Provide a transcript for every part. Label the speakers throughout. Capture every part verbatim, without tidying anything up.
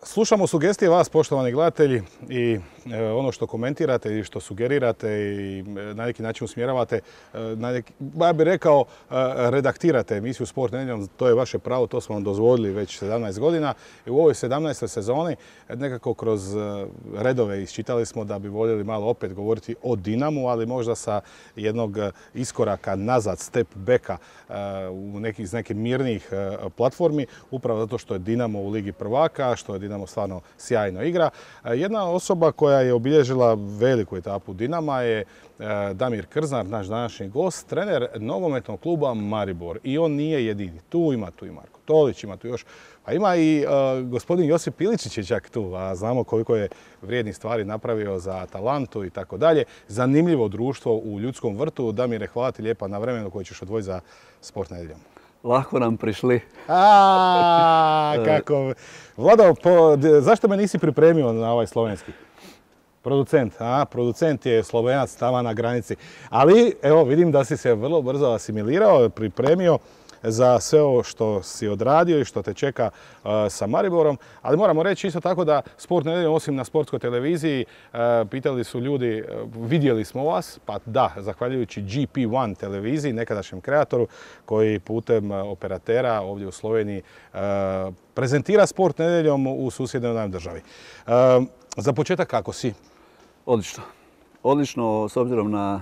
Speaker 1: Slušamo sugestije vas, poštovani gledatelji, i ono što komentirate i što sugerirate i na neki način usmjeravate, na neki, ja bih rekao, redaktirate emisiju Sport nedjeljom, to je vaše pravo, to smo vam dozvolili već sedamnaest godina. I u ovoj sedamnaestoj sezoni nekako kroz redove isčitali smo da bi voljeli malo opet govoriti o Dinamu, ali možda sa jednog iskoraka nazad, step backa u neki, iz nekih mirnijih platformi, upravo zato što je Dinamo u Ligi prvaka, što je Dinamo stvarno sjajno igra. Jedna osoba koja je obilježila veliku etapu Dinama je Damir Krznar, naš današnji gost, trener nogometnog kluba Maribor. I on nije jedini. Tu ima, tu i Marko Tolić, ima tu još. Pa ima i uh, gospodin Josip Piličić je čak tu, a znamo koliko je vrijednih stvari napravio za Atalantu i tako dalje. Zanimljivo društvo u Ljudskom vrtu. Damire, hvala ti lijepa na vremenu koje ćeš odvojiti za Sport nedjeljom.
Speaker 2: Lako nam prišli.
Speaker 1: A, kako... Vlado, po, zašto me nisi pripremio na ovaj slovenski? Producent, a, producent je Slovenac tamo na granici. Ali, evo, vidim da si se vrlo brzo asimilirao, pripremio za sve ovo što si odradio i što te čeka uh, sa Mariborom. Ali moramo reći isto tako da Sport nedjeljom, osim na sportskoj televiziji, uh, pitali su ljudi, uh, vidjeli smo vas, pa da, zahvaljujući G P jedan televiziji, nekadašnjem kreatoru, koji putem uh, operatera ovdje u Sloveniji uh, prezentira Sport nedjeljom u susjednoj nam državi. Uh, za početak, kako si?
Speaker 2: Odlično. Odlično, s obzirom na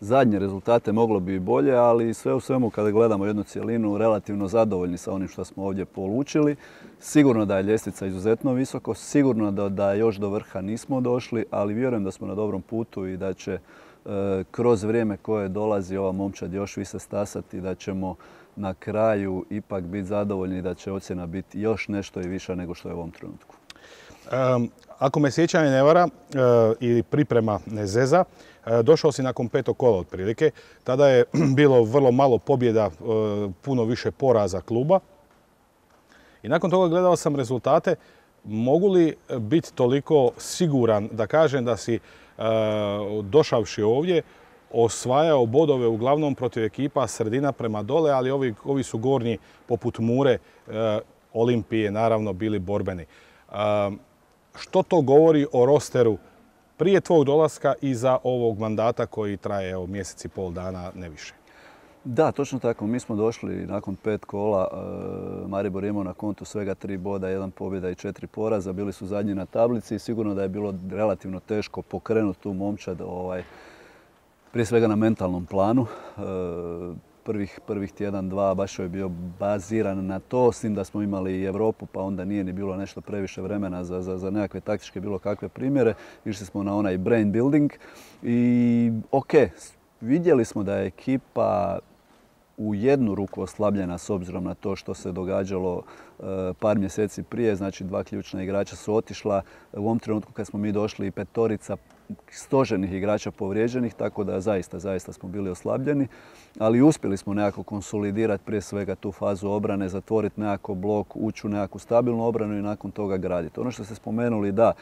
Speaker 2: zadnje rezultate moglo bi i bolje, ali sve u svemu kada gledamo jednu cjelinu, relativno zadovoljni sa onim što smo ovdje polučili. Sigurno da je ljestvica izuzetno visoko, sigurno da, da još do vrha nismo došli, ali vjerujem da smo na dobrom putu i da će e, kroz vrijeme koje dolazi ova momčad još više stasati, da ćemo na kraju ipak biti zadovoljni i da će ocjena biti još nešto i viša nego što je u ovom trenutku.
Speaker 1: Um, ako me sjećanje ne vara uh, ili priprema ne zeza, uh, došao si nakon petog kola otprilike. Tada je bilo vrlo malo pobjeda, uh, puno više poraza kluba. I nakon toga gledao sam rezultate. Mogu li biti toliko siguran da kažem da si uh, došavši ovdje osvajao bodove uglavnom protiv ekipa sredina prema dole, ali ovi, ovi su gornji poput Mure, uh, Olimpije, naravno bili borbeni. Uh, što to govori o rosteru prije tvog dolaska i za ovog mandata koji traje evo, mjesec i pol dana, ne više?
Speaker 2: Da, točno tako. Mi smo došli nakon pet kola. Uh, Maribor je imao na kontu svega tri boda, jedan pobjeda i četiri poraza. Bili su zadnji na tablici i sigurno da je bilo relativno teško pokrenuti tu momčad, ovaj, prije svega na mentalnom planu. Uh, Prvih, prvih tjedan, dva, baš je bio baziran na to, s tim da smo imali i Europu, pa onda nije ni bilo nešto previše vremena za, za, za nekakve taktičke bilo kakve primjere. Išli smo na onaj brain building i ok, vidjeli smo da je ekipa u jednu ruku oslabljena s obzirom na to što se događalo uh, par mjeseci prije. Znači dva ključna igrača su otišla. U ovom trenutku kad smo mi došli i petorica stožernih igrača povrijeđenih, tako da zaista, zaista smo bili oslabljeni. Ali uspjeli smo nekako konsolidirati prije svega tu fazu obrane, zatvoriti nekako blok, ući u nekakvu stabilnu obranu i nakon toga graditi. Ono što ste spomenuli, da,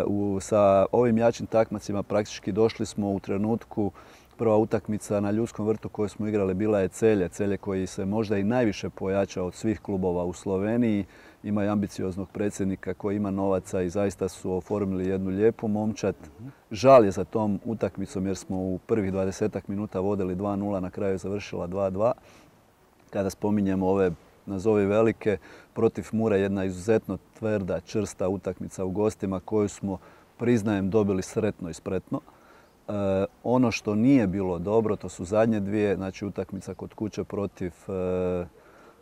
Speaker 2: u, sa ovim jačim takmacima praktički došli smo u trenutku. Prva utakmica na Ljudskom vrtu koju smo igrali bila je Celje. Celje koji se možda i najviše pojačao od svih klubova u Sloveniji. Ima i ambicioznog predsjednika koji ima novaca i zaista su oformili jednu lijepu momčad. Žal je za tom utakmicom jer smo u prvih dvadesetak minuta vodili dva nula, na kraju je završila dva dva. Kada spominjemo ove nazovi velike, protiv Mure jedna izuzetno tvrda, čvrsta utakmica u gostima koju smo, priznajem, dobili sretno i spretno. Uh, ono što nije bilo dobro, to su zadnje dvije, znači utakmica kod kuće protiv uh,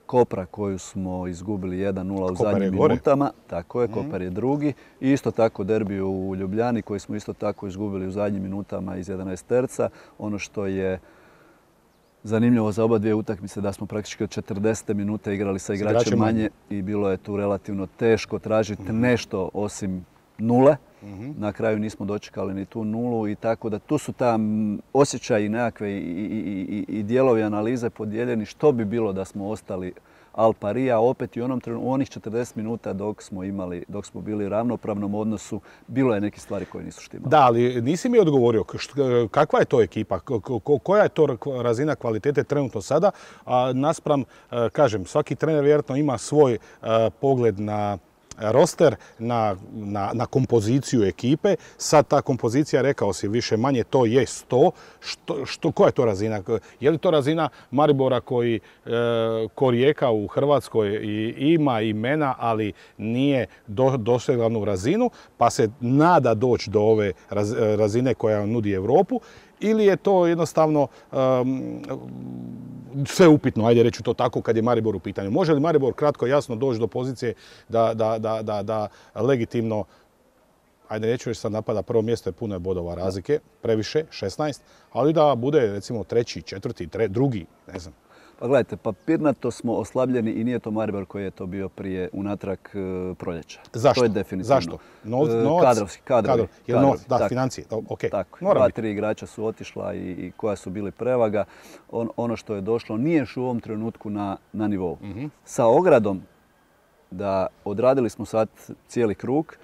Speaker 2: Kopra koju smo izgubili jedan nula u
Speaker 1: Kopar
Speaker 2: zadnjim minutama. Tako je, mm. Kopar je drugi. I isto tako derbi u Ljubljani koji smo isto tako izgubili u zadnjim minutama iz jedanaest terca. Ono što je zanimljivo za oba dvije utakmice da smo praktički od četrdesete minute igrali sa igračem manje i bilo je tu relativno teško tražiti mm. nešto osim nule. Mm-hmm. Na kraju nismo dočekali ni tu nulu i tako da tu su tam osjećaji nekakve i, i, i, i dijelovi analize podijeljeni što bi bilo da smo ostali al pari, a opet i u onom trenutku, u onih četrdeset minuta dok smo imali, dok smo bili u ravnopravnom odnosu, bilo je neke stvari koje nisu štimale.
Speaker 1: Da, ali nisi mi odgovorio kakva je to ekipa, koja je to razina kvalitete trenutno sada, a naspram, kažem, svaki trener vjerojatno ima svoj pogled na roster, na, na, na kompoziciju ekipe. Sad ta kompozicija, rekao si, više manje to je sto. Što, što, koja je to razina? Je li to razina Maribora koji e, ko Rijeka u Hrvatskoj i, ima imena, ali nije do, dosegla glavnu razinu, pa se nada doći do ove raz, razine koja nudi Europu? Ili je to jednostavno um, sve upitno, ajde reći to tako, kad je Maribor u pitanju? Može li Maribor kratko i jasno doći do pozicije da, da, da, da, da legitimno, ajde neću reći sad napada, prvo mjesto je puno bodova razlike, previše, šesnaest, ali da bude recimo treći, četvrti, tre, drugi, ne znam.
Speaker 2: Pa gledajte, papirnato smo oslabljeni i nije to Maribor koji je to bio prije unatrag e, proljeća.
Speaker 1: Zašto?
Speaker 2: To je definitivno.
Speaker 1: Zašto? Novac, novac,
Speaker 2: kadrovski, kadrovi.
Speaker 1: Kadro. Novac, da, tako, financije. Okay.
Speaker 2: Tako. Dva, tri igrača su otišla i, i koja su bili prevaga. On, ono što je došlo nije još u ovom trenutku na, na nivou. Mm-hmm. Sa ogradom da odradili smo sad cijeli krug,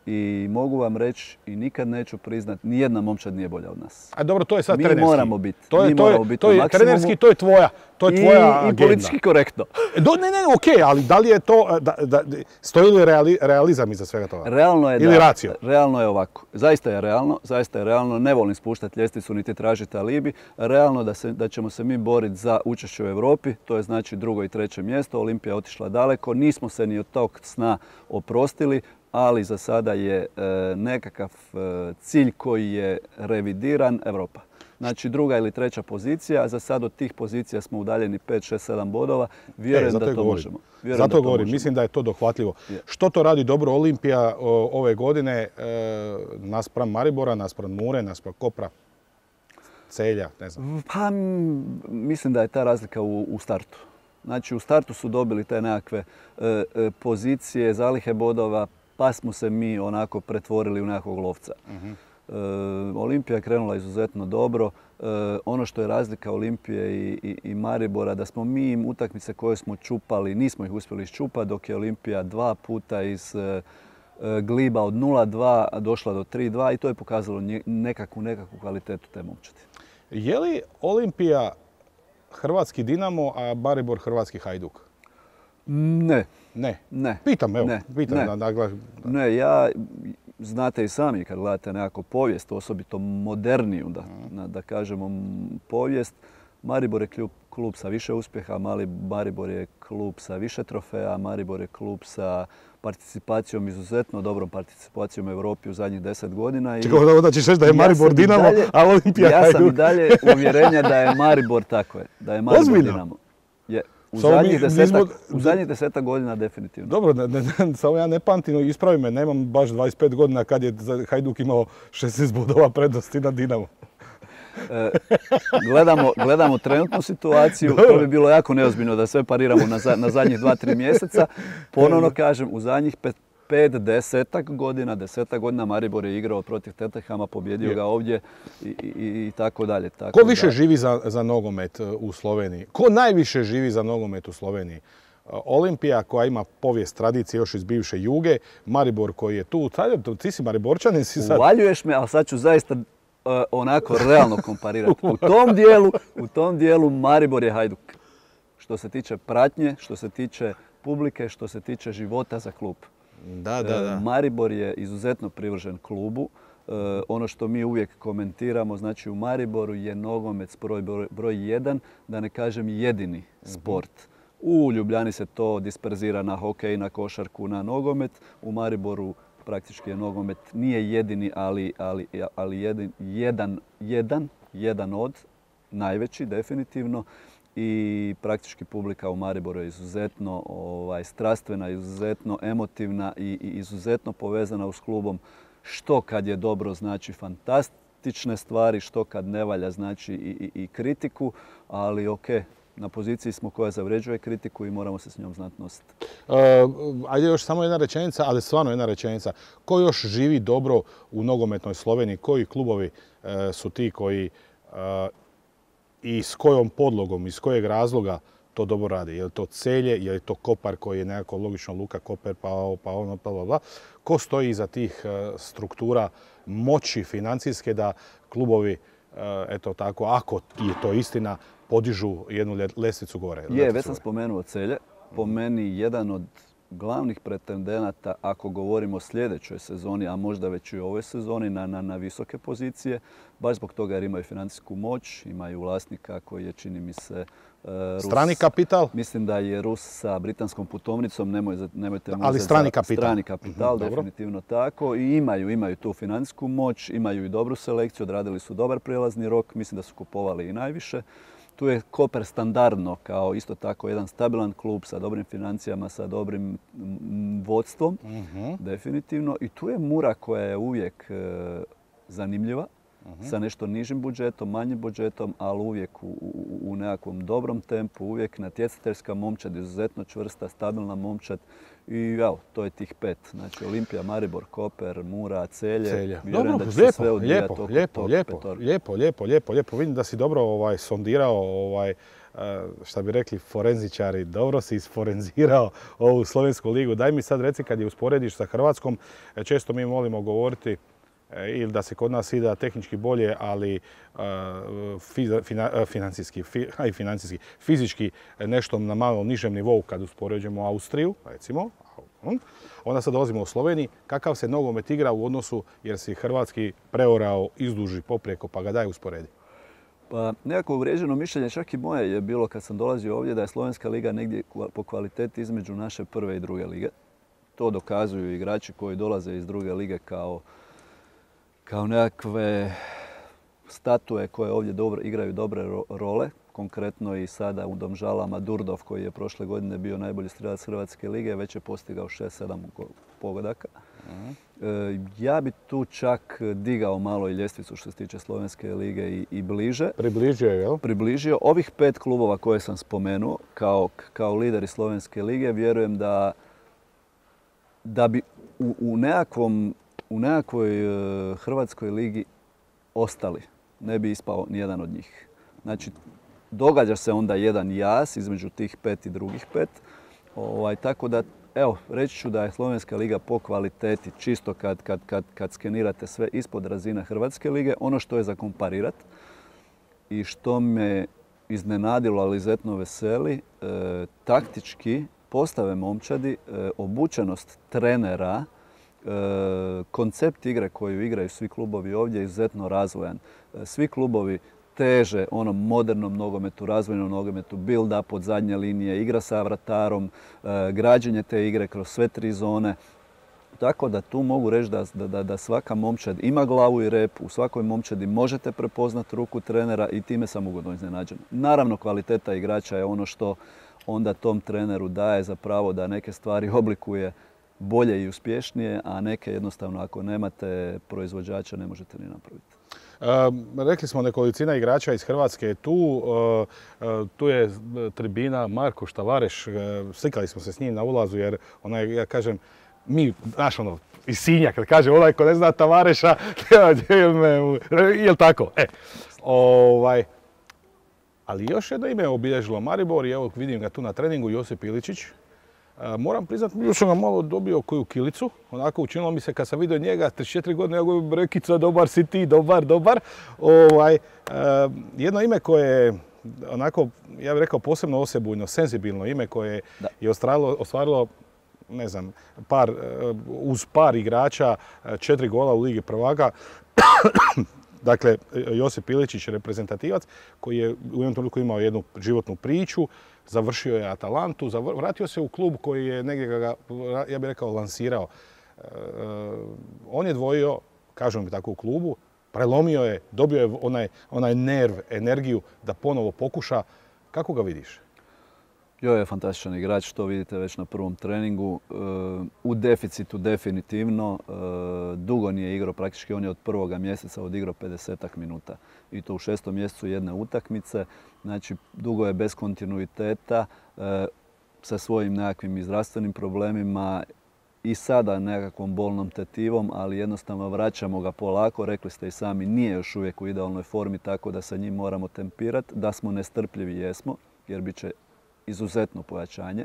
Speaker 2: i mogu vam reći i nikad neću priznat, nijedna momčad nije bolja od nas.
Speaker 1: A dobro, to je sad
Speaker 2: mi
Speaker 1: trenerski.
Speaker 2: Moramo biti.
Speaker 1: To je,
Speaker 2: mi
Speaker 1: to je,
Speaker 2: moramo biti
Speaker 1: to je trenerski, to je tvoja, to je tvoja
Speaker 2: I,
Speaker 1: agenda.
Speaker 2: I politički korektno.
Speaker 1: Do, ne, ne, okej, okay, ali da li je to, da, da, stoji li reali, realizam iza svega toga?
Speaker 2: Realno je,
Speaker 1: ili
Speaker 2: da,
Speaker 1: racio?
Speaker 2: Realno je ovako. Zaista je realno, zaista je realno. Ne volim spuštati ljestvicu niti tražiti alibi. Realno da, se, da ćemo se mi boriti za učešće u Europi, to je znači drugo i treće mjesto. Olimpija je otišla daleko, nismo se ni od tog sna oprostili, ali za sada je e, nekakav e, cilj koji je revidiran Europa. Znači druga ili treća pozicija, za sad od tih pozicija smo udaljeni pet, šest, sedam bodova. Vjerujem e, da to govorim. možemo. Vjerujem
Speaker 1: zato
Speaker 2: da
Speaker 1: govorim,
Speaker 2: možemo.
Speaker 1: Mislim da je to dohvatljivo.
Speaker 2: Je.
Speaker 1: Što to radi dobro Olimpija o, ove godine e, naspram Maribora, naspram Mure, naspram Kopra, Celja, ne znam?
Speaker 2: Pa mislim da je ta razlika u, u startu. Znači u startu su dobili te nekakve e, e, pozicije, zalihe bodova, pa smo se mi onako pretvorili u nekakvog lovca. Uh-huh. e, Olimpija je krenula izuzetno dobro. E, ono što je razlika Olimpije i, i, i Maribora, da smo mi im utakmice koje smo čupali, nismo ih uspjeli iščupati, dok je Olimpija dva puta iz e, gliba od nula dva došla do tri dva i to je pokazalo nekakvu, nekakvu kvalitetu te momčadi.
Speaker 1: Je li Olimpija hrvatski Dinamo, a Maribor hrvatski Hajduk?
Speaker 2: Ne.
Speaker 1: Ne?
Speaker 2: Ne.
Speaker 1: Pitam, evo.
Speaker 2: Ne.
Speaker 1: Pitam
Speaker 2: ne.
Speaker 1: Da, da, da.
Speaker 2: ne, ja, znate i sami kad gledate nekako povijest, osobito moderniju, da, mm. da kažemo povijest, Maribor je klub, klub sa više uspjeha, Mali Maribor je klub sa više trofeja, Maribor je klub sa participacijom, izuzetno dobrom participacijom u Europi u zadnjih deset godina. I
Speaker 1: čekaj, onda ćeš reći da je Maribor ja Dinamo, dalje, a Olimpija
Speaker 2: Ja
Speaker 1: Hajduk.
Speaker 2: sam i dalje uvjerenja da je Maribor tako je, da je Maribor Ozbiljno? Dinamo. Je. U, so zadnjih mi, desetak, nismo... u zadnjih desetak godina definitivno.
Speaker 1: Dobro, ne, ne, samo ja ne pamtim, ispravi me, nemam baš dvadeset pet godina kad je Hajduk imao šesnaest bodova prednosti na Dinamo.
Speaker 2: E, gledamo, gledamo trenutnu situaciju, Dobro. To bi bilo jako neozbiljno da sve pariramo na, za, na zadnjih dva, tri mjeseca. Ponovno kažem, u zadnjih pet, pet, desetak godina, desetak godina Maribor je igrao protiv Tottenhama, pobjedio je. ga ovdje i, i, i tako dalje. Tako
Speaker 1: Ko više
Speaker 2: da...
Speaker 1: živi za, za nogomet u Sloveniji? Ko najviše živi za nogomet u Sloveniji? Olimpija koja ima povijest tradicije još iz bivše Juge, Maribor koji je tu. Ti si Mariborčanin, si sad...
Speaker 2: Uvaljuješ me, ali sad ću zaista uh, onako realno komparirati. U tom dijelu, u tom dijelu Maribor je Hajduk. Što se tiče pratnje, što se tiče publike, što se tiče života za klub.
Speaker 1: Da, da, da.
Speaker 2: Maribor je izuzetno privržen klubu. E, ono što mi uvijek komentiramo, znači u Mariboru je nogomet broj, broj, broj jedan, da ne kažem jedini sport. U Ljubljani se to disperzira na hokej, na košarku, na nogomet. U Mariboru praktički je nogomet nije jedini, ali, ali, ali jedan, jedan, jedan, jedan od, najveći definitivno. I praktički publika u Mariboru je izuzetno ovaj, strastvena, izuzetno emotivna i, i izuzetno povezana s klubom. Što kad je dobro znači fantastične stvari, što kad ne valja znači i, i, i kritiku, ali ok, na poziciji smo koja zavređuje kritiku i moramo se s njom znati nositi.
Speaker 1: Uh, ajde još samo jedna rečenica, ali stvarno jedna rečenica. Ko još živi dobro u nogometnoj Sloveniji? Koji klubovi uh, su ti koji uh, i s kojom podlogom, iz kojeg razloga to dobro radi? Je li to Celje, je li to Kopar koji je nekako logično Luka Koper, pa, pa ono, pa bla, bla. Ko stoji iza tih uh, struktura moći financijske da klubovi, uh, eto tako, ako je to istina, podižu jednu ljestvicu gore?
Speaker 2: Je, već sam spomenuo Celje. Po meni jedan od glavnih pretendenata, ako govorimo o sljedećoj sezoni, a možda već i ovoj sezoni, na, na, na visoke pozicije, baš zbog toga jer imaju financijsku moć, imaju vlasnika koji je, čini mi se, Rus.
Speaker 1: Strani kapital?
Speaker 2: Mislim da je Rus sa britanskom putovnicom, nemoj, nemojte mu
Speaker 1: ali strani kapital.
Speaker 2: Strani kapital,
Speaker 1: mm-hmm,
Speaker 2: definitivno tako. I imaju, imaju tu financijsku moć, imaju i dobru selekciju, odradili su dobar prijelazni rok, mislim da su kupovali i najviše. Tu je Koper standardno kao isto tako jedan stabilan klub sa dobrim financijama, sa dobrim vodstvom,
Speaker 1: mm-hmm.
Speaker 2: definitivno. I tu je Mura koja je uvijek e, zanimljiva, mm-hmm. sa nešto nižim budžetom, manjim budžetom, ali uvijek u, u, u nekakvom dobrom tempu, uvijek natjecateljska momčad, izuzetno čvrsta, stabilna momčad. I evo, to je tih pet. Znači Olimpija, Maribor, Koper, Mura, Celje.
Speaker 1: Celje.
Speaker 2: Vjerujem
Speaker 1: Dobro,
Speaker 2: da će
Speaker 1: lijepo,
Speaker 2: sve
Speaker 1: lijepo,
Speaker 2: oko
Speaker 1: lijepo,
Speaker 2: tog
Speaker 1: lijepo,
Speaker 2: petorka.
Speaker 1: lijepo, lijepo, lijepo, lijepo. Vidim da si dobro ovaj, sondirao, ovaj, šta bi rekli forenzičari, dobro si isforenzirao ovu slovensku ligu. Daj mi sad reci, kad je usporediš sa Hrvatskom, često mi volimo govoriti ili da se kod nas ide tehnički bolje, ali financijski, a i financijski, fizički nešto na malo nižem nivou kad uspoređujemo Austriju, recimo, onda sad dolazimo u Sloveniji, kakav se nogomet igra u odnosu jer si hrvatski preorao izduži poprijeko, pa ga daj usporedi.
Speaker 2: Pa nekako uvrijeđeno mišljenje, čak i moje je bilo kad sam dolazio ovdje, da je Slovenska liga negdje po kvaliteti između naše prve i druge lige. To dokazuju igrači koji dolaze iz druge lige kao kao nekakve statue koje ovdje dobro, igraju dobre role. Konkretno i sada u Domžalama Durdov, koji je prošle godine bio najbolji strelac Hrvatske lige, već je postigao šest sedam pogodaka. Uh-huh. E, ja bi tu čak digao malo i ljestvicu što se tiče Slovenske lige i, i bliže.
Speaker 1: Približio je, jel?
Speaker 2: Približio. Ovih pet klubova koje sam spomenuo kao, kao lideri Slovenske lige, vjerujem da, da bi u, u nekakvom u nekakvoj Hrvatskoj ligi ostali. Ne bi ispao nijedan od njih. Znači, događa se onda jedan jaz između tih pet i drugih pet. Ovaj, tako da, evo, reći ću da je Slovenska liga po kvaliteti, čisto kad, kad, kad, kad skenirate sve ispod razine Hrvatske lige, ono što je za komparirat i što me iznenadilo, ali izuzetno veseli, e, taktički postave momčadi, e, obučenost trenera, koncept igre koju igraju svi klubovi ovdje je izuzetno razvojan. Svi klubovi teže onom modernom nogometu, razvojnom nogometu, build-up od zadnje linije, igra sa vratarom, građenje te igre kroz sve tri zone. Tako da tu mogu reći da, da, da svaka momčad ima glavu i rep, u svakoj momčadi možete prepoznati ruku trenera i time sam ugodno iznenađen. Naravno, kvaliteta igrača je ono što onda tom treneru daje za pravo da neke stvari oblikuje bolje i uspješnije, a neke jednostavno ako nemate proizvođača ne možete ni napraviti.
Speaker 1: E, rekli smo nekolicina igrača iz Hrvatske je tu. E, tu je tribina Marko Štavareš. E, slikali smo se s njim na ulazu jer onaj, ja kažem, mi, znaš ono, iz Sinja, kad kaže onaj ko ne zna Tavareša, jel tako? E, ovaj, ali još jedno ime je obilježilo Maribor i evo vidim ga tu na treningu, Josip Iličić. Moram priznati, još sam ga malo dobio koju kilicu. Onako učinilo mi se kad sam vidio njega, trideset četiri godine, ja govorim, Rekica, dobar si ti, dobar, dobar. Ovaj, jedno ime koje je, onako, ja bih rekao, posebno osebujno, senzibilno ime koje da. je ostvarilo, ostvarilo, ne znam, par, uz par igrača, četiri gola u Ligi prvaka. Dakle, Josip Iličić, reprezentativac, koji je u jednom trenutku imao jednu životnu priču, završio je Atalantu, vratio se u klub koji je negdje ga, ja bih rekao, lansirao. On je dvojio, kažem tako, u klubu, prelomio je, dobio je onaj, onaj nerv, energiju da ponovo pokuša. Kako ga vidiš?
Speaker 2: Jo je fantastičan igrač, to vidite već na prvom treningu. U deficitu definitivno. Dugo nije igrao, praktički on je od prvoga mjeseca odigrao pedesetak minuta. I to u šestom mjesecu jedne utakmice. Znači, dugo je bez kontinuiteta, sa svojim nekakvim zdravstvenim problemima i sada nekakvom bolnom tetivom, ali jednostavno vraćamo ga polako. Rekli ste i sami, nije još uvijek u idealnoj formi, tako da sa njim moramo tempirati. Da smo nestrpljivi, jesmo, jer bit će izuzetno pojačanje.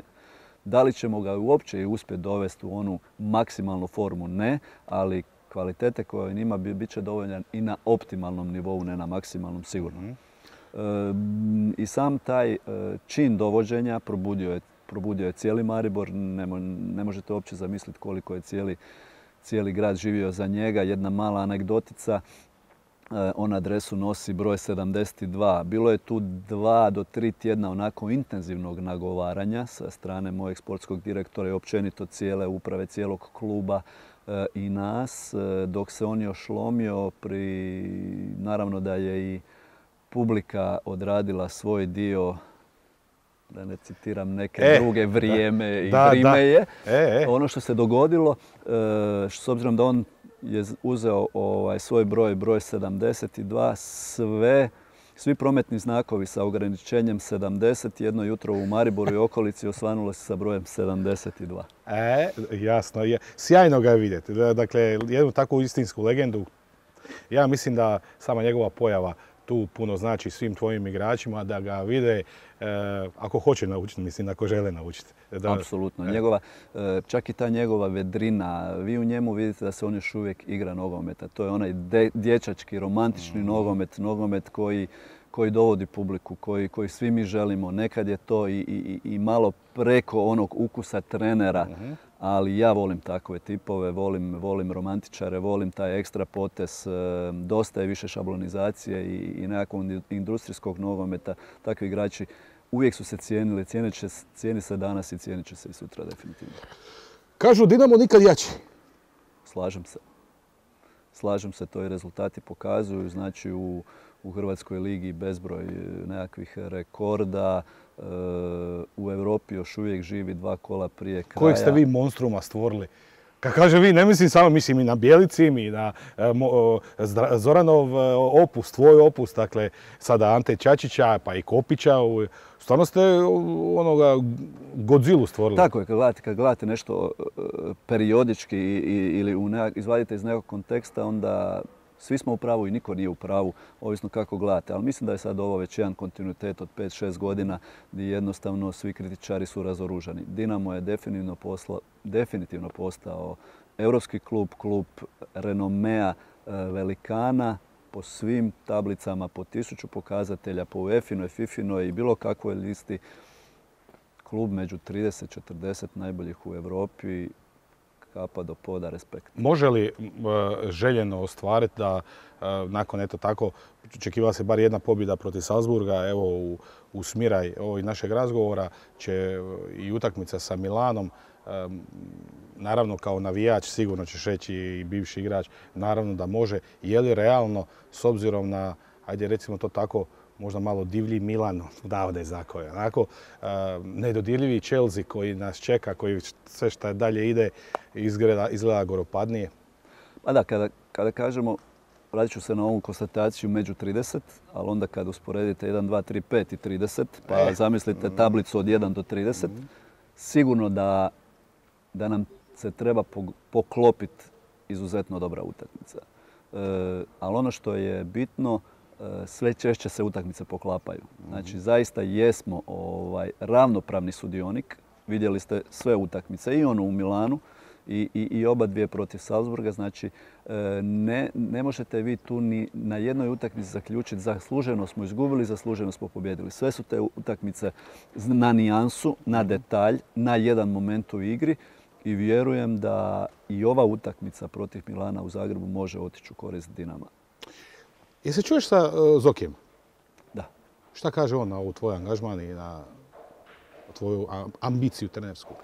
Speaker 2: Da li ćemo ga uopće i uspjeti dovesti u onu maksimalnu formu? Ne, ali kvalitete koje on ima bit će dovoljan i na optimalnom nivou, ne na maksimalnom sigurno. Mm-hmm. E, I sam taj čin dovođenja probudio je probudio je cijeli Maribor. Ne, ne možete uopće zamisliti koliko je cijeli, cijeli grad živio za njega. Jedna mala anegdotica. On adresu nosi broj sedamdeset dva. Bilo je tu dva do tri tjedna onako intenzivnog nagovaranja sa strane mojeg sportskog direktora i općenito cijele uprave, cijelog kluba i nas, dok se on još lomio. Pri... Naravno da je i publika odradila svoj dio, da ne citiram neke e, druge, vrijeme da, i da, vrime da. je. E, e. Ono što se dogodilo, s obzirom da on je uzeo ovaj, svoj broj, broj sedamdeset dva, sve, svi prometni znakovi sa ograničenjem sedamdeset jedno jutro u Mariboru i okolici osvanulo se sa brojem sedamdeset dva.
Speaker 1: E, jasno je. Sjajno ga je vidjeti. Dakle, jednu takvu istinsku legendu. Ja mislim da sama njegova pojava tu puno znači svim tvojim igračima, da ga vide e, ako hoće naučiti, mislim, ako žele naučiti. Da,
Speaker 2: apsolutno. E. Njegova, čak i ta njegova vedrina, vi u njemu vidite da se on još uvijek igra nogometa. To je onaj de, dječački, romantični mm. nogomet, nogomet koji, koji dovodi publiku, koji, koji svi mi želimo. Nekad je to i, i, i malo preko onog ukusa trenera, mm-hmm. ali ja volim takve tipove, volim, volim romantičare, volim taj ekstra potez, dosta je više šablonizacije i, i nekakvog industrijskog nogometa. Takvi igrači uvijek su se cijenili, cijenit će, cijeni se danas i cijenit će se i sutra definitivno.
Speaker 1: Kažu Dinamo nikad jači.
Speaker 2: Slažem se. Slažem se, to i rezultati pokazuju. Znači u, u Hrvatskoj ligi bezbroj nekakvih rekorda. U Europi još uvijek živi dva kola prije kraja.
Speaker 1: Kojeg ste vi monstruma stvorili? Kad kaže vi, ne mislim samo, mislim i na Bjelici, i na Zoranov opus, tvoj opus, dakle sada Ante Čačića, pa i Kopića. Stvarno ste onoga Godzilu stvorili.
Speaker 2: Tako je, kad gledate, kad gledate nešto periodički ili u nekak, izvadite iz nekog konteksta, onda svi smo u pravu i niko nije u pravu, ovisno kako gledate. Ali mislim da je sad ovo već jedan kontinuitet od pet šest godina gdje jednostavno svi kritičari su razoružani. Dinamo je definitivno, posla, definitivno postao europski klub, klub renomea velikana po svim tablicama, po tisuću pokazatelja, po UEFA-inoj, FIFA-inoj i bilo kakvoj listi. Klub među trideset četrdeset najboljih u Europi. Kapa do poda, respekt.
Speaker 1: Može li željeno ostvariti da nakon eto tako, očekivala se bar jedna pobjeda protiv Salzburga, evo u, u smiraj ovog našeg razgovora će i utakmica sa Milanom, naravno kao navijač sigurno ćeš reći i bivši igrač, naravno da može. Je li realno s obzirom na, ajde recimo to tako, možda malo divlji Milan, davde zakoje. Onako, nedodirljivi Chelsea koji nas čeka, koji sve što dalje ide, izgleda, izgleda goropadnije.
Speaker 2: Pa da, kada, kada kažemo, vratit ću se na ovu konstataciju među trideset, ali onda kada usporedite jedan, dva, tri, pet i trideset, pa e. zamislite tablicu od jedan do trideset, mm. sigurno da, da nam se treba poklopiti izuzetno dobra utakmica. E, ali ono što je bitno, sve češće se utakmice poklapaju. Znači, zaista jesmo ovaj, ravnopravni sudionik. Vidjeli ste sve utakmice, i ono u Milanu i, i, i oba dvije protiv Salzburga. Znači, ne, ne možete vi tu ni na jednoj utakmici zaključiti zasluženo smo izgubili, zasluženo smo pobjedili. Sve su te utakmice na nijansu, na detalj, na jedan moment u igri i vjerujem da i ova utakmica protiv Milana u Zagrebu može otići u korist Dinama.
Speaker 1: Jel se čuješ sa uh, Zokijem?
Speaker 2: Da.
Speaker 1: Šta kaže on na ovu tvoj angažman i na tvoju ambiciju trenersku?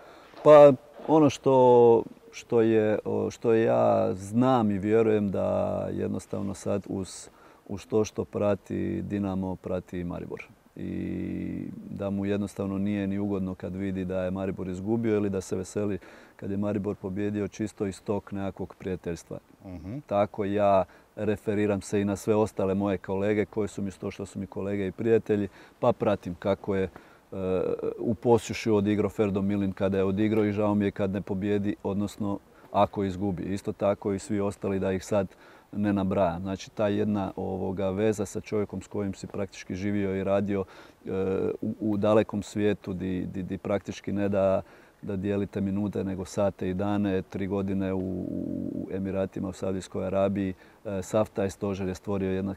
Speaker 2: Pa ono što, što, je, što ja znam i vjerujem da jednostavno sad uz, uz to što prati Dinamo, prati Maribor. I da mu jednostavno nije ni ugodno kad vidi da je Maribor izgubio ili da se veseli kad je Maribor pobjedio, čisto iz tog nekakvog prijateljstva. Uh-huh. Tako ja referiram se i na sve ostale moje kolege koji su mi to što su mi kolege i prijatelji, pa pratim kako je uh, u Posušju odigrao Ferdo Milin kada je odigrao i žao mi je kad ne pobjedi, odnosno ako izgubi. Isto tako i svi ostali, da ih sad ne nabrajam. Znači, ta jedna ovoga veza sa čovjekom s kojim si praktički živio i radio uh, u, u dalekom svijetu di, di, di praktički ne da da dijelite minute, nego sate i dane, tri godine u, u Emiratima, u Saudijskoj Arabiji. Sav taj stožer je stvorio jedna,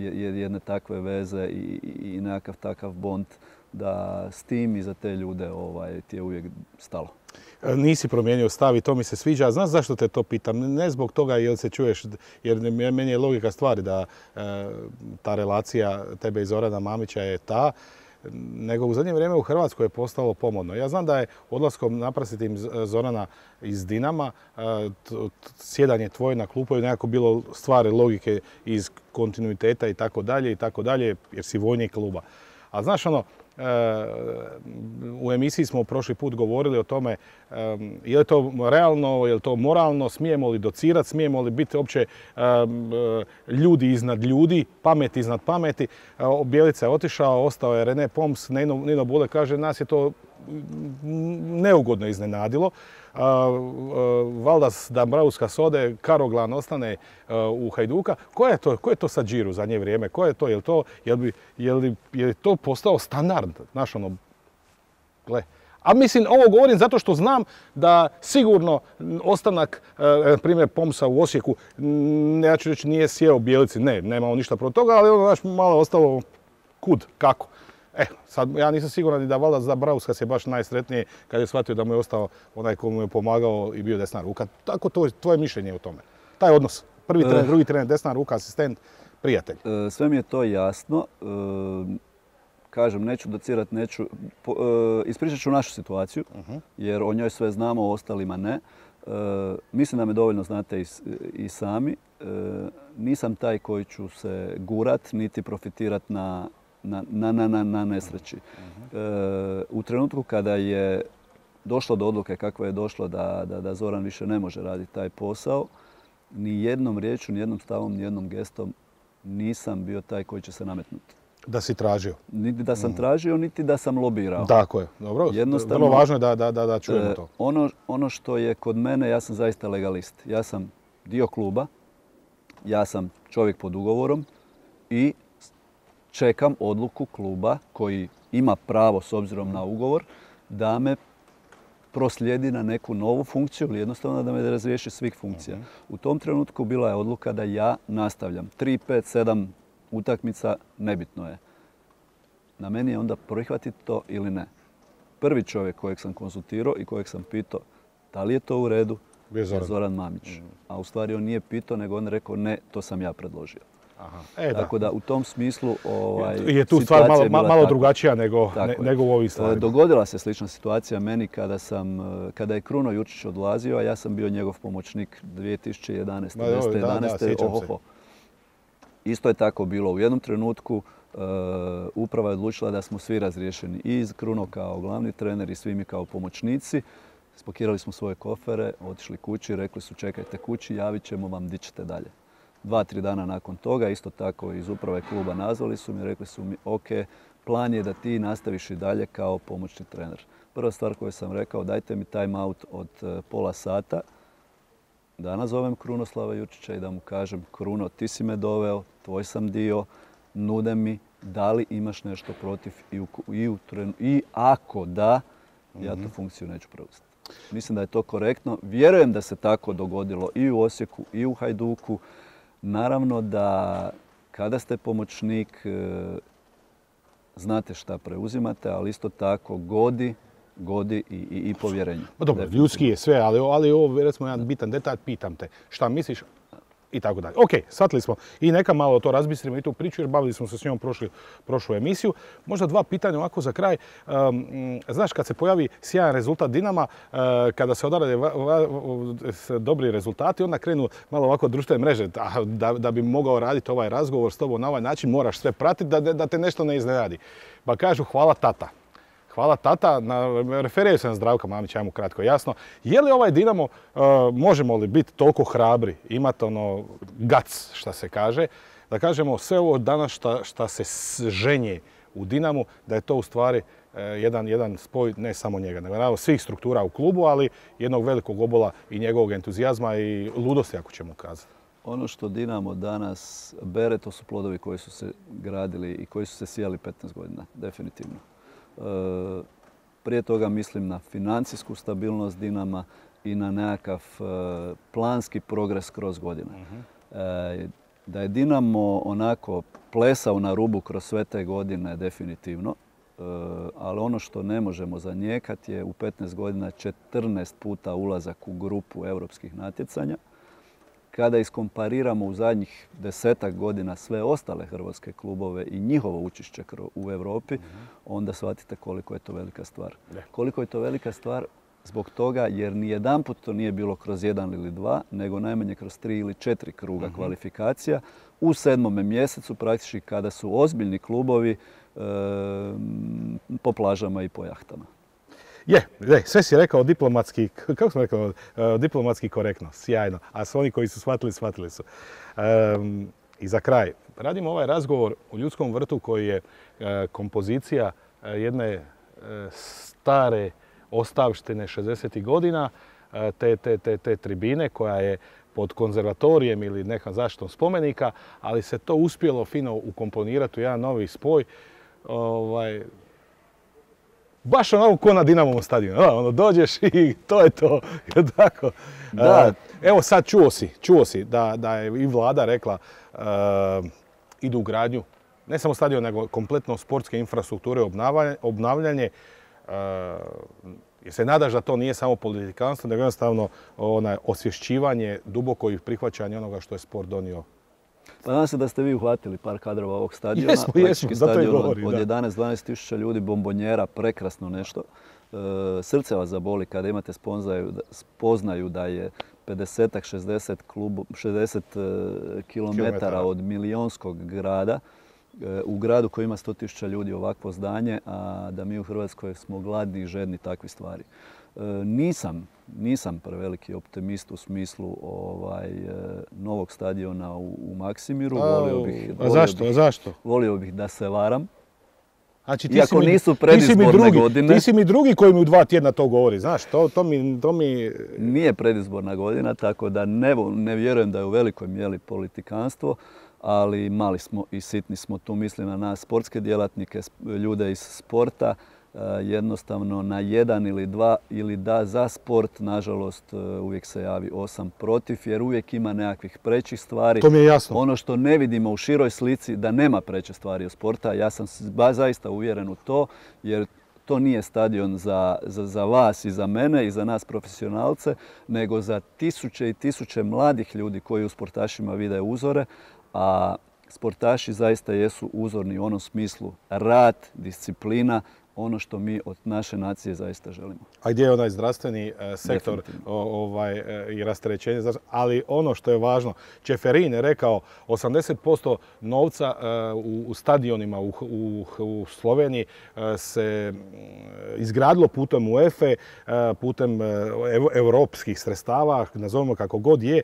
Speaker 2: jedne takve veze i, i nekakav takav bond da s tim i za te ljude ovaj, ti je uvijek stalo.
Speaker 1: Nisi promijenio stav i to mi se sviđa. Znaš zašto te to pitam? Ne zbog toga jer se čuješ, jer meni je logika stvari da e, ta relacija tebe i Zorana Mamića je ta, nego u zadnje vrijeme u Hrvatskoj je postalo pomodno. Ja znam da je odlaskom naprasitim Zorana iz Dinama, sjedanje tvoje na klupu je nekako bilo stvari logike iz kontinuiteta i tako dalje i tako dalje, jer si vojnik kluba. A znaš ono, u emisiji smo prošli put govorili o tome je li to realno, je li to moralno, smijemo li docirati, smijemo li biti uopće ljudi iznad ljudi, pamet iznad pameti. Bjelica je otišao, ostao je Rene Poms, Nino, Nino Bule kaže nas je to neugodno iznenadilo. Valdas Dambrauska sode, Karoglan ostane u Hajduka. Ko je to, ko je to sad Džiru za nje vrijeme? Ko je to? Je li to, je li, je li, je li to postao standard? Znaš ono, gle. A mislim, ovo govorim zato što znam da sigurno ostanak, na primjer, Pomsa u Osijeku, ja ću reći, nije sjeo Bjelici. Ne, nemamo ništa protiv toga, ali ono, znaš, malo ostalo kud, kako. E, sad ja nisam siguran ni da Valdas Dambrauskas je baš najsretniji kad je shvatio da mu je ostao onaj ko mu je pomagao i bio desna ruka. Tako to je tvoje mišljenje o tome. Taj odnos. Prvi trener, drugi trener, desna ruka, asistent, prijatelj.
Speaker 2: Sve mi je to jasno. Kažem, neću docirati, neću... Ispričat ću našu situaciju, jer o njoj sve znamo, o ostalima ne. Mislim da me dovoljno znate i sami. Nisam taj koji ću se gurat, niti profitirat na Na, na, na, na nesreći. Uh-huh. E, u trenutku kada je došlo do odluke kakva je došlo da, da, da Zoran više ne može raditi taj posao, ni jednom riječju, ni jednom stavom, ni jednom gestom nisam bio taj koji će se nametnuti.
Speaker 1: Da si tražio?
Speaker 2: Niti da sam uh-huh. tražio, niti da sam lobirao.
Speaker 1: Tako je. Dobro. Vrlo važno je da, da, da, da čujemo to.
Speaker 2: E, ono, ono što je kod mene, ja sam zaista legalist. Ja sam dio kluba, ja sam čovjek pod ugovorom i čekam odluku kluba koji ima pravo s obzirom na ugovor da me proslijedi na neku novu funkciju ili jednostavno da me razriješi svih funkcija. U tom trenutku bila je odluka da ja nastavljam. tri, pet, sedam utakmica, nebitno je. Na meni je onda prihvatiti to ili ne. Prvi čovjek kojeg sam konsultirao i kojeg sam pitao da li je to u redu je Zoran, Zoran Mamić. A u stvari on nije pitao, nego on rekao ne, to sam ja predložio.
Speaker 1: Aha. E,
Speaker 2: Tako da u tom smislu ovaj,
Speaker 1: je tu stvar malo, malo drugačija nego, ne, nego u ovim stvarima.
Speaker 2: Dogodila se slična situacija meni kada, sam, kada je Kruno Jučić odlazio, a ja sam bio njegov pomoćnik dvije tisuće jedanaeste.
Speaker 1: Da, da, jedanaeste. Da, da,
Speaker 2: ohoho. Isto je tako bilo. U jednom trenutku uh, uprava je odlučila da smo svi razriješeni. I Kruno kao glavni trener i svi mi kao pomoćnici. Spakirali smo svoje kofere, otišli kući, rekli su čekajte kući, javit ćemo vam di ćete dalje. Dva, tri dana nakon toga, isto tako iz uprave kluba nazvali su mi, rekli su mi ok, plan je da ti nastaviš i dalje kao pomoćni trener. Prva stvar koju sam rekao, dajte mi time out od pola sata, da nazovem Krunoslava Jučića i da mu kažem Kruno, ti si me doveo, tvoj sam dio, nude mi, da li imaš nešto protiv i, u, i, u, i ako da, ja tu funkciju neću preuzeti. Mislim da je to korektno. Vjerujem da se tako dogodilo i u Osijeku i u Hajduku. Naravno da kada ste pomoćnik znate šta preuzimate, ali isto tako godi, godi i, i, i povjerenje.
Speaker 1: Pa dobro, ljudski je sve, ali, ali ovo recimo jedan bitan detalj, pitam te šta misliš i tako dalje. Ok, shvatili smo i neka malo to razbistrimo i tu priču jer bavili smo se s njom prošli, prošlu emisiju. Možda dva pitanja ovako za kraj. Um, znaš, kad se pojavi sjajan rezultat Dinama, uh, kada se odrade va, va, dobri rezultati, onda krenu malo ovako društvene mreže. Da, da bi mogao raditi ovaj razgovor s tobom na ovaj način, moraš sve pratiti da, da te nešto ne iznenadi. Pa kažu hvala tata. Hvala tata, referiraju se na Zdravka Mamića, ajmo kratko jasno. Je li ovaj Dinamo, uh, možemo li biti toliko hrabri, imati ono gac, šta se kaže, da kažemo sve ovo danas šta, šta se ženje u Dinamu, da je to u stvari uh, jedan, jedan spoj ne samo njega, nego naravno svih struktura u klubu, ali jednog velikog obola i njegovog entuzijazma i ludosti, ako ćemo kazati.
Speaker 2: Ono što Dinamo danas bere, to su plodovi koji su se gradili i koji su se sijali petnaest godina, definitivno. Prije toga mislim na financijsku stabilnost Dinama i na nekakav planski progres kroz godine. Uh-huh. Da je Dinamo onako plesao na rubu kroz sve te godine definitivno, ali ono što ne možemo zanijekati je u petnaest godina četrnaest puta ulazak u grupu europskih natjecanja. Kada iskompariramo u zadnjih desetak godina sve ostale hrvatske klubove i njihovo učešće u Europi, onda shvatite koliko je to velika stvar. Koliko je to velika stvar zbog toga jer ni jedanput to nije bilo kroz jedan ili dva, nego najmanje kroz tri ili četiri kruga kvalifikacija u sedmome mjesecu praktički kada su ozbiljni klubovi e, po plažama i po jahtama.
Speaker 1: Je, je, sve si rekao diplomatski, kako sam rekao, diplomatski korektno, sjajno. A svi oni koji su shvatili, shvatili su. Um, I za kraj, radimo ovaj razgovor u Ljudskom vrtu koji je uh, kompozicija uh, jedne uh, stare ostavštine šezdesetih godina, uh, te, te, te, te tribine koja je pod konzervatorijem ili nekom zaštitom spomenika, ali se to uspjelo fino ukomponirati u jedan novi spoj. Ovaj, baš onako ko na Dinamovom stadionu. Ono, dođeš i to je to. Tako.
Speaker 2: Da.
Speaker 1: Evo sad čuo si, čuo si da, da je i vlada rekla uh, idu u gradnju ne samo stadion, nego kompletno sportske infrastrukture, obnavljanje. Uh, jer se nadaš da to nije samo politikanstvo, nego jednostavno onaj, osvješćivanje, duboko i prihvaćanje onoga što je sport donio.
Speaker 2: Pa nadam se da ste vi uhvatili par kadrova ovog stadiona.
Speaker 1: Jesmo, jesmo, zato je govori.
Speaker 2: Od jedanaest do dvanaest tisuća ljudi, bombonjera, prekrasno nešto. E, srce vas zaboli kada imate spoznaju, spoznaju da je pedeset šezdeset, klubu, šezdeset kilometara od milijonskog grada, e, u gradu koji ima sto tisuća ljudi ovakvo zdanje, a da mi u Hrvatskoj smo gladni i žedni takvi stvari. E, nisam, nisam preveliki optimist u smislu ovaj, novog stadiona u, u Maksimiru. Volio bih,
Speaker 1: a zašto?
Speaker 2: Bih,
Speaker 1: zašto?
Speaker 2: Volio bih da se varam.
Speaker 1: Znači, ti
Speaker 2: Iako
Speaker 1: mi,
Speaker 2: nisu predizborne
Speaker 1: ti drugi,
Speaker 2: godine.
Speaker 1: Ti si mi drugi koji mi u dva tjedna to govori, znaš, to, to, mi, to mi...
Speaker 2: Nije predizborna godina, tako da ne, ne vjerujem da je u velikoj mjeri politikanstvo, ali mali smo i sitni smo, tu mislim na nas sportske djelatnike, ljude iz sporta, jednostavno na jedan ili dva ili da za sport, nažalost uvijek se javi osam protiv jer uvijek ima nekakvih prećih stvari.
Speaker 1: To mi je jasno.
Speaker 2: Ono što ne vidimo u široj slici da nema preće stvari od sporta, ja sam zaista uvjeren u to jer to nije stadion za, za, za vas i za mene i za nas profesionalce, nego za tisuće i tisuće mladih ljudi koji u sportašima vide uzore, a sportaši zaista jesu uzorni u onom smislu rad, disciplina, ono što mi od naše nacije zaista želimo.
Speaker 1: A gdje je onaj zdravstveni e, sektor o, ovaj, e, i rasterećenje? Ali ono što je važno, Čeferin je rekao osamdeset posto novca e, u, u stadionima u, u, u Sloveniji e, se izgradilo putem UEFA, e, putem e, europskih sredstava, nazovimo kako god je.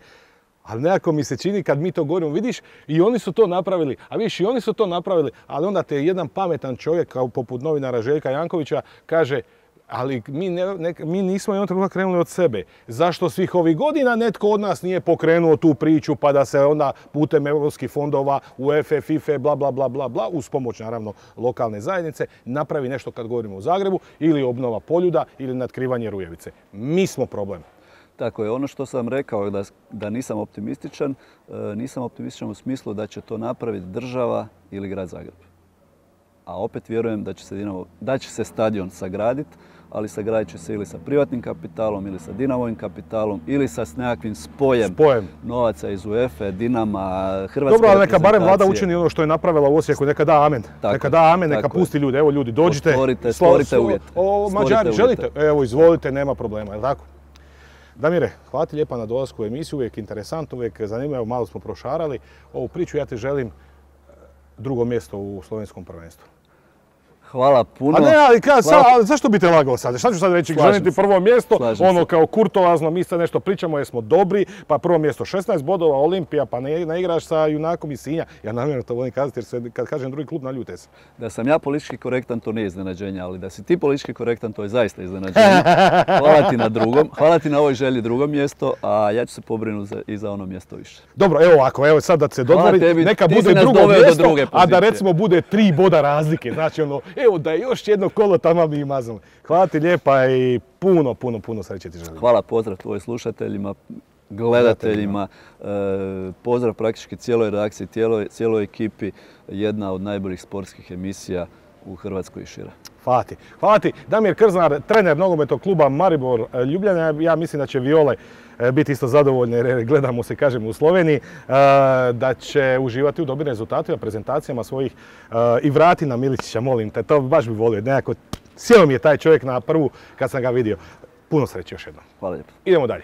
Speaker 1: Ali nekako mi se čini kad mi to govorimo, vidiš, i oni su to napravili, a vidiš, i oni su to napravili, ali onda te jedan pametan čovjek, kao poput novinara Željka Jankovića, kaže, ali mi, ne, ne, mi nismo jednog trenutka krenuli od sebe. Zašto svih ovih godina netko od nas nije pokrenuo tu priču pa da se onda putem europskih fondova, UEFA, FIFA, bla, bla, bla, bla, bla, uz pomoć naravno lokalne zajednice, napravi nešto kad govorimo o Zagrebu, ili obnova Poljuda, ili natkrivanje Rujevice. Mi smo problem.
Speaker 2: Tako je, ono što sam rekao da, da nisam optimističan, nisam optimističan u smislu da će to napraviti država ili grad Zagreb. A opet vjerujem da će se, Dinamo, da će se stadion sagraditi, ali sagradit će se ili sa privatnim kapitalom, ili sa Dinamovim kapitalom, ili sa s nekakvim spojem, spojem. novaca iz UEFA, Dinama, Hrvatske.
Speaker 1: Dobro, ali neka barem vlada učini ono što je napravila u Osijeku, neka da amen. Tako, neka da amen, neka pusti ljude. Evo ljudi, dođite.
Speaker 2: Stvorite, stvorite uvjet.
Speaker 1: O, Mađari, želite? Evo, izvolite, nema problema, je li tako? Damire, hvala ti lijepa na dolasku u emisiju, uvijek interesantno, uvijek zanimljivo, malo smo prošarali ovu priču. Ja ti želim drugo mjesto u slovenskom prvenstvu.
Speaker 2: Hvala puno.
Speaker 1: A ne, ali kad, Hvala... sa, zašto bi te lagao sad? Šta ću sad reći? Želim ti prvo mjesto, Slažem ono se. Kao kurtoazno, mi sad nešto pričamo jer smo dobri, pa prvo mjesto šesnaest bodova, Olimpija, pa ne, ne igraš sa Junakom iz Sinja. Ja namjerno to volim kazati jer se, kad kažem drugi klub, naljute se.
Speaker 2: Da sam ja politički korektan, to nije iznenađenje, ali da si ti politički korektan, to je zaista iznenađenje. Hvala ti na drugom, hvala ti na ovoj želji drugo mjesto, a ja ću se pobrinuti i za ono mjesto više.
Speaker 1: Dobro, evo ovako, evo sad da se dodvori, tebi, neka bude drugo mjesto, a da recimo bude tri boda razlike. Znači ono, evo da je još jedno kolo tamo mi mazali. Hvala ti lijepa i puno, puno, puno sreće ti želim.
Speaker 2: Hvala, pozdrav tvojim slušateljima, gledateljima, e, pozdrav praktički cijeloj redakciji, cijeloj, cijeloj ekipi. Jedna od najboljih sportskih emisija u Hrvatskoj i šire.
Speaker 1: Hvala ti. Hvala ti. Damir Krznar, trener nogometnog kluba Maribor Ljubljana. Ja mislim da će Viole biti isto zadovoljne jer gledamo se, kažemo, u Sloveniji, da će uživati u dobrim rezultatima, prezentacijama svojih i vrati na Miličića, molim te, to baš bi volio. Nekako, sjeo mi je taj čovjek na prvu kad sam ga vidio. Puno sreće još jednom.
Speaker 2: Hvala lijepo.
Speaker 1: Idemo dalje.